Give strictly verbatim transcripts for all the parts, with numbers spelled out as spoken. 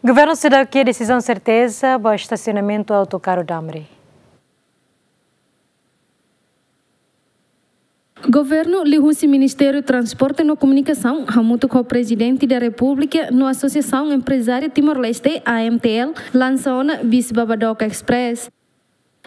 Governu seidauk iha desizaun serteza ba estasionamentu autokarru Damri. Governu liuhusi Ministériu Transporte no Komunikasaun, hamutuk ho Prezidente da Repúblika no Asosiasaun Emprezáriu Timor-Leste, A M T L, lansa ona bis Babadook Express.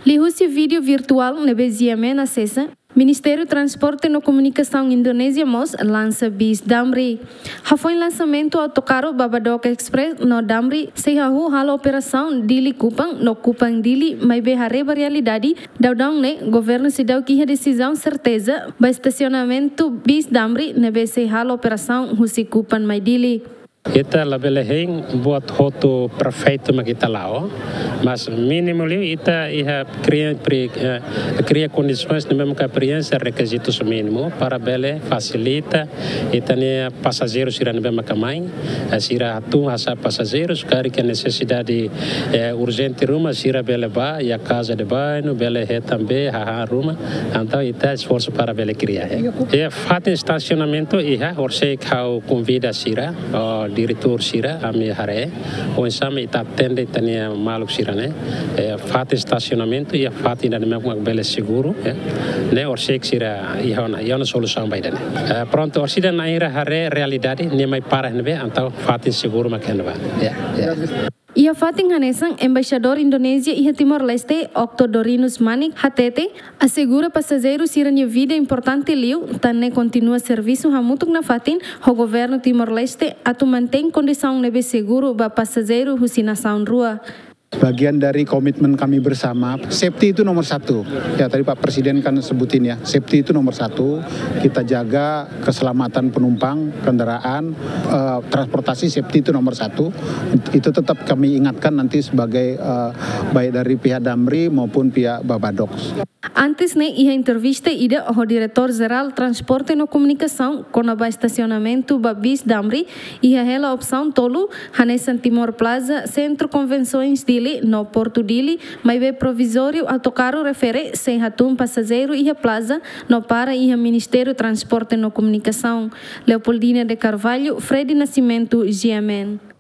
Liuhusi vídeo virtuál ne'ebé GMN asesa, Ministériu Transporte no Komunikasaun Indonézia mós lansa bis Damri. Hafoin lansamentu autokarru Babadook Express no Damri sei hahú halo operasaun Dili Kupang no Kupang Dili maibé haree ba realidade, daudaun ne'e governu seidauk iha desizaun serteza ba estasionamentu bis Damri ne'ebé sei halo operasaun husi Kupang mai Dili. Ita labele hein buat hotu perfeitu mak ita la'o, mas mínimu liu ita iha kria, pri-, eh, kria kondisoens ne'ebé maka prienxe rekizitus mínimu para bele fasilita ita-nia pasajeiru sira ne'ebé maka mai, eh, sira hatún hasa'e pasajeiru, se karik iha nesesidade, eh, urjente ruma, sira bele bá iha casa de banho, bele hetan bee, hahán ruma, entaun ita esforsu para bele kria, eh. Iha fatin estasionamentu iha, horiseik ha'u konvida sira, oh, diretór sira, ami haree oinsá mak ita atende ita-nia maluk sira ne'e, eh, fatin estasionamentu iha fatin ida ne'ebé mak bele seguru, eh. Ne'e horiseik sira iha ona, iha ona solusaun ba ida-ne'e. Eh, prontu, orsida nain sira haree realidade, nia mai para iha ne'ebé, entaun fatin seguru mak iha ne'ebá. Ya, ya. Iha fatin hanesan, Embaixadór Indonézia iha Timor-Leste, Okto Dorinus Manik, hatete, asegura pasajeiru sira-nia vida importante liu, tan ne'e kontinua servisu hamutuk nafatin ho governu Timor-Leste atu mantein kondisaun ne'ebé seguru ba pasajeiru husi nasaun rua. Bagian dari komitmen kami bersama, safety itu nomor satu. Ya, tadi Pak Presiden kan sebutin ya, safety itu nomor satu. Kita jaga keselamatan penumpang, kendaraan, eh, transportasi, safety itu nomor satu. Itu tetap kami ingatkan nanti sebagai, eh, baik dari pihak Damri maupun pihak Babadook. Antes ne'e iha entrevista ida ho Diretór Jerál Transporte no Komunikasaun kona-ba estasionamentu ba bis Damri, iha hela opsaun tolu, hanesan Timor Plaza, Sentru Konvensoens Dili no Portu Dili, maibé provizóriu autokarru refere sei hatún pasajeiru iha plaza no para iha Ministériu Transporte no Komunikasaun. Leopoldina de Carvalho, Freddy Nascimento, GMN.